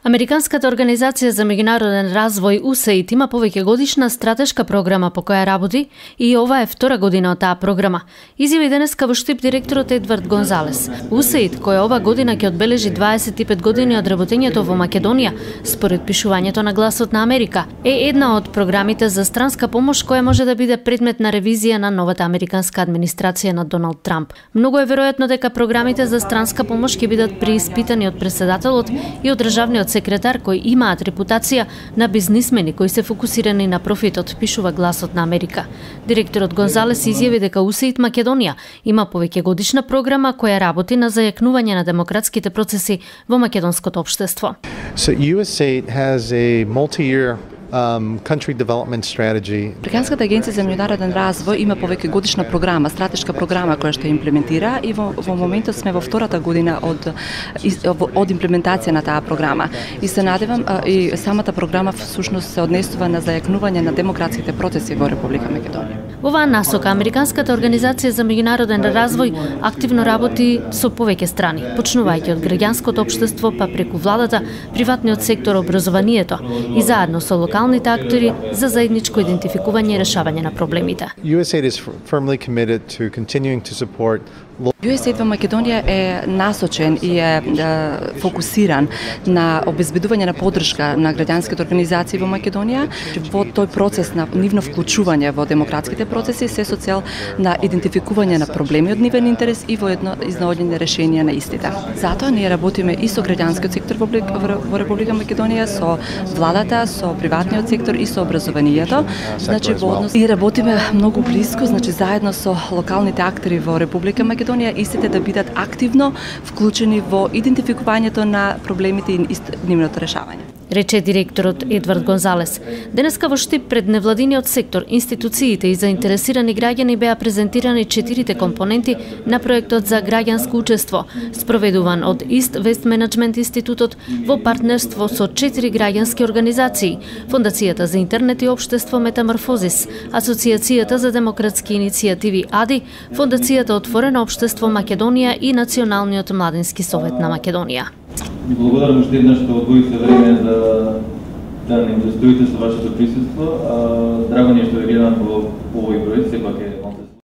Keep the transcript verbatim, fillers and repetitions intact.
Американската организација за меѓународен развој У С А И Д има повеќегодишна стратешка програма по која работи и ова е втора година од таа програма. Изјави денеска во Штип директорот Едвард Гонзалес. У С А И Д, која ова година ќе одбележи дваесет и пет години од работењето во Македонија, според пишувањето на Гласот на Америка, е една од програмите за странска помош која може да биде предмет на ревизија на новата американска администрација на Доналд Трамп. Многу е веројатно дека програмите за странска помош ќе бидат преиспитани од претседателот и од државниот секретар кои имаат репутација на бизнисмени кои се фокусирани на профитот, пишува Гласот на Америка. Директорот Гонзалес изјави дека У С А И Д Македонија има повеќегодишна програма која работи на зајакнување на демократските процеси во македонското општество. So U S A I D has a multi-year Um, country development strategy. Американската агенција за меѓународен развој има повеќегодишна програма, стратешка програма која што имплементира и во, во моментот сме во втората година од од имплементација на таа програма. И се надевам и самата програма всушност се однесува на зајакнување на демократските процеси во Република Македонија. Во оваа насока Американската организација за меѓународен развој активно работи со повеќе страни, почнувајќи од граѓанското општество па преку владата, приватниот сектор, образованието и заедно со локалните актори за заедничко идентификување и решавање на проблемите. U S A I D is firmly committed to continuing to support У С А И Д во Македонија е насочен и е, е фокусиран на обезбедување на поддршка на граѓанските организации во Македонија во тој процес на нивно вклучување во демократските процеси се со цел на идентификување на проблеми од нивен интерес и во едно изнаоѓање решенија на истите. Затоа ние работиме и со граѓанскиот сектор во, во Република Македонија, со владата, со приватниот сектор и со образованието. Значи во однос и работиме многу блиско, значи заедно со локалните актери во Република Македонија истите да бидат активно вклучени во идентификувањето на проблемите и нивното решавање, рече директорот Едвард Гонзалес. Денеска во Штип пред невладиниот сектор, институциите и заинтересирани граѓани беа презентирани четирите компоненти на проектот за граѓанско учество, спроведуван од East West Management Институтот во партнерство со четири граѓански организации: Фондацијата за интернет и општество Метаморфозис, Асоцијацијата за демократски иницијативи АДИ, Фондацијата Отворено општество Македонија и Националниот младински совет на Македонија. Благодарам уште еднаш што одвоите време за да ни удостоите со вашето присуство. Драго ни е што ве гледам во овој број, сепак е